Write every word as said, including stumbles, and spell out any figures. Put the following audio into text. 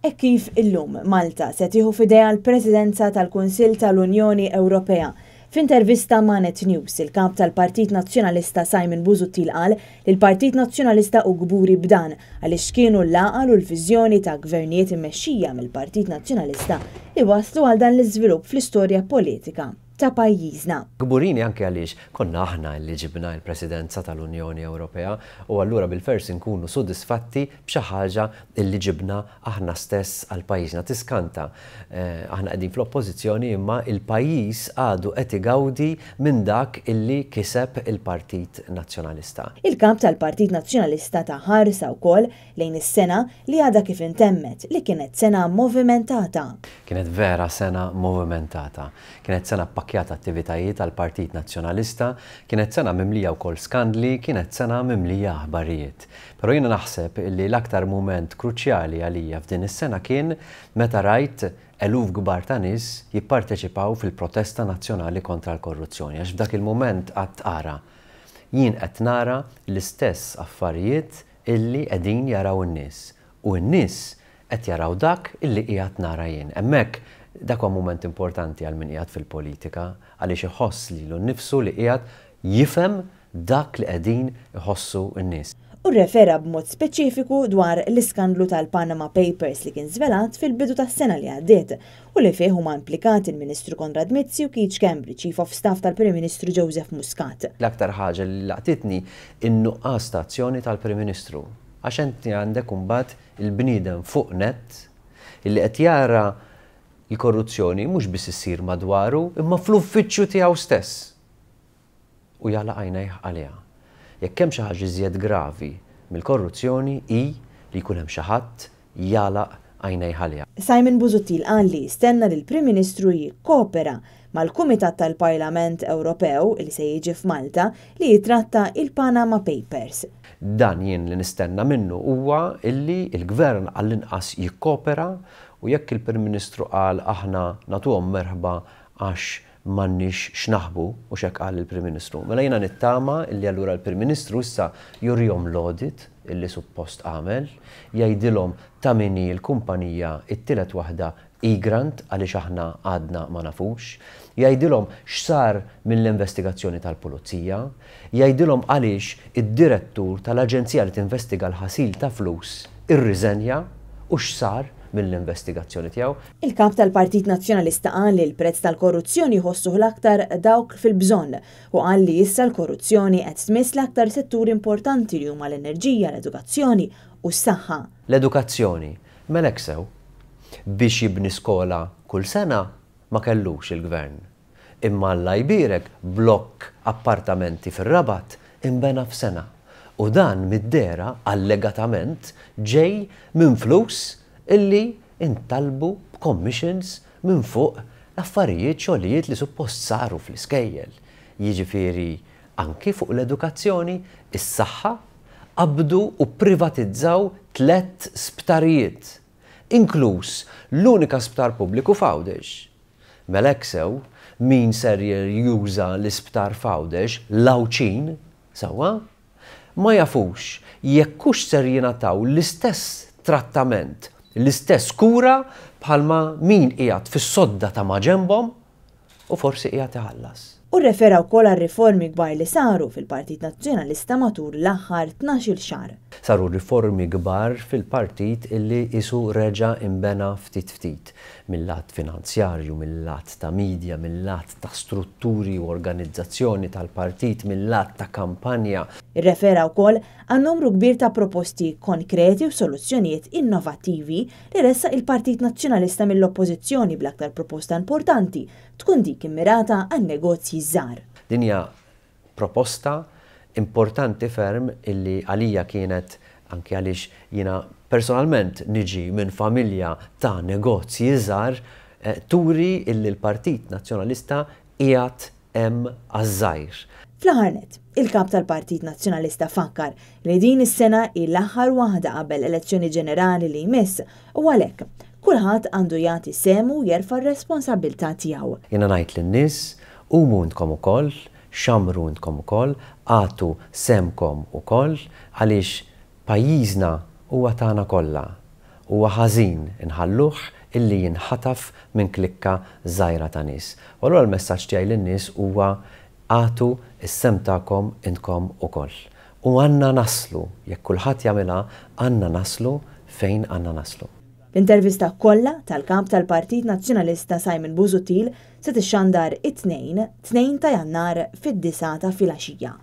Hekk kif illum Malta se tieħu f'idejha l-Presidenza tal-Kunsill tal-Unjoni Ewropea. F'intervista ma' Net News, il-kap tal-Partit Nazzjonalista Simon Busuttil qal li l-Partit Nazzjonalista hu kburi b'dan għaliex kienu l-għaqal u l-viżjoni ta' gvernijiet immexxija mill-Partit Nazzjonalista li waslu għal dan l-iżvilupp fl-istorja politika ta' pajjiżna. Kburin anke għaliex konna aħna li ġibna l-Presidenza tal-Unjoni Ewropea u allura bil-fors nkunu sodisfatti b'xi ħaġa li ġibna aħna stess għal pajjiżna. Tiskanta, eh, aħna qegħdin fl-oppożizzjoni, imma il-pajjiż għadu qed igawdi minn dak illi kiseb il-Partit Nazzjonalista. Il-kap tal-Partit Nazzjonalista ta ħarsa wkoll lejn is-sena li għadha kif intemmet, li kienet sena movimentata. Kienet vera sena movimentata. Kienet sena pakkjata attivitajiet tal-Partit Nazzjonalista, kienet sena mimlija wkoll skandli, kienet sena mimlija aħbarijiet. Però jiena naħseb li l-aktar mument kruċjali għalija f'din is-sena kien meta rajt eluf kbar ta' nies jipparteċipaw fil-protesta nazzjonali kontra l-korruzzjoni. Għax f'dak il-mument għedt, "Ara, jien qed nara l-istess affarijiet illi qegħdin jaraw in-nies. U n-nies qed jaraw dak illi qiegħed nara jien." Hemmhekk dak huwa mument importanti għal min qiegħed fil-politika, għaliex iħoss lilu nnifsu li qiegħed jifhem dak li qegħdin iħossu n-nies. U refera b'mod speċifiku dwar l-iskandlu tal-Panama Papers li kien żvelat fil-bidu tas-sena li għaddiet u li fih huma implikati il-Ministru Konrad Mizzi u Keith Schembri, Chief of Staff tal-Prim Ministru Joseph Muscat. L-aktar ħaġa li laqtitni, in-nuqqas ta' azzjoni tal-Prim Ministru. Għax inti għandek imbagħad il-bniedem fuq net illi qed jara l-korruzzjoni mhux biss issir madwaru, imma fl-uffiċċju tiegħu stess. U jagħlaq għajnejh għaliha. Jekk hemm xi ħaġa iżjed gravi mill-korruzzjoni hi li jkun hemm xi ħadd jagħlaq għajnejh għaliha. Simon Busuttil qal li jistenna li l-Prim Ministru jikkopera mal-Kumitat tal-Parlament Ewropew li se jiġi f'Malta li jitratta il-Panama Papers. Dan jien li nistenna minnu huwa illi il-Gvern għall-inqas jikkopera, u jekk il-Prim Ministru qal "aħna nagħtuhom merħba għax m'għandniex x'naħbu", u hekk qal il-Prim Ministru. Mela jiena nittama illi allura l-Prim Ministru issa jurihom l-audit illi suppost għamel, jgħidilhom ta' min hi l-kumpanija, it-tielet waħda, Egrant, għaliex aħna għadna ma nafux, jgħidilhom x'sar mill-investigazzjoni tal-pulizija, jgħidilhom għaliex id-direttur tal-aġenzija li tinvestiga l-ħasil ta' flus irriżenja u x'sar mill-investigazzjoni tiegħu. Il-kap tal-Partit Nazzjonalista qal li l-prezz tal-korruzzjoni jħossuh l-aktar dawk fil-bżonn u qal li issa l-korruzzjoni qed tmiss l-aktar setturi importanti li huma l-enerġija, l-edukazzjoni u s-saħħa. L-edukazzjoni, mela sew, biex jibni skola kull sena ma kellux il-gvern. Imma Alla jbierek, blokk appartamenti fir-Rabat imbena f'sena. U dan mid-dehra allegatament ġej minn flus illi intalbu b'commissions minn fuq l-affarijiet, xogħlijiet li suppost saru fl-iskejjel. Jiġifieri anki fuq l-edukazzjoni, is-saħħa, qabdu u privatizzaw tlet sptarijiet, inkluż l-unika sptar pubbliku f'Għawdex. Mela sew, min ser juża l-isptar f'Għawdex, l-Għawdxin, sewwa, ma jafux jekk hux ser jingħataw l-istess trattament, l-istess kura bħalma min qiegħed fis-sodda ta' maġenbhom u forsi qiegħed iħallas. U refera wkoll għal riformi kbar li saru fil-Partit Nazzjonalista matul l-aħħar tnax-il xahar. Saru riformi kbar fil-partit illi qisu reġa' imbena ftit ftit. Mill-lat finanzjarju, mill-lat ta' media, mill-lat ta' strutturi u organizzazzjoni tal-partit, mill-lat ta' kampanja. Irrefera wkoll għal numru kbir ta' proposti konkreti u soluzzjonijiet innovattivi li ressaq il-Partit Nazzjonalista mill-Oppożizzjoni, bl-aktar proposta importanti tkun dik immirata għan negozji żgħar. Din hija proposta importanti ferm illi għalija kienet, anke għaliex jiena personalment niġi minn familja ta' negozji żgħar, eh, turi illi l-Partit Nazzjonalista qiegħed hemm għaż-żgħir. Fl-aħħar nett, il-kap tal-Partit Nazzjonalista fakkar li din is-sena hi l-aħħar waħda qabel elezzjoni ġenerali li jmiss u għalhekk kulħadd għandu jagħti sehmu u jerfa' r-responsabbiltà tiegħu. Jiena ngħid lin-nies, qumu intkom ukoll, xamru intkom ukoll, agħtu sehemkom ukoll, għaliex pajjiżna huwa tagħna kollha. Huwa ħażin inħalluh illi jinħataf minn klikka żgħira ta' nies. U allura l-messaġġ tiegħi lin-nies huwa agħtu s-sehem tagħkom intkom ukoll. U għandna naslu, jekk kulħadd jagħmilha, għandna naslu fejn għandna naslu. L-intervista kollha tal-kap tal-Partit Nazzjonalista Simon Busuttil se tixxandar it-Tnejn, tnejn ta' Jannar fid-disgħa ta' filgħaxija.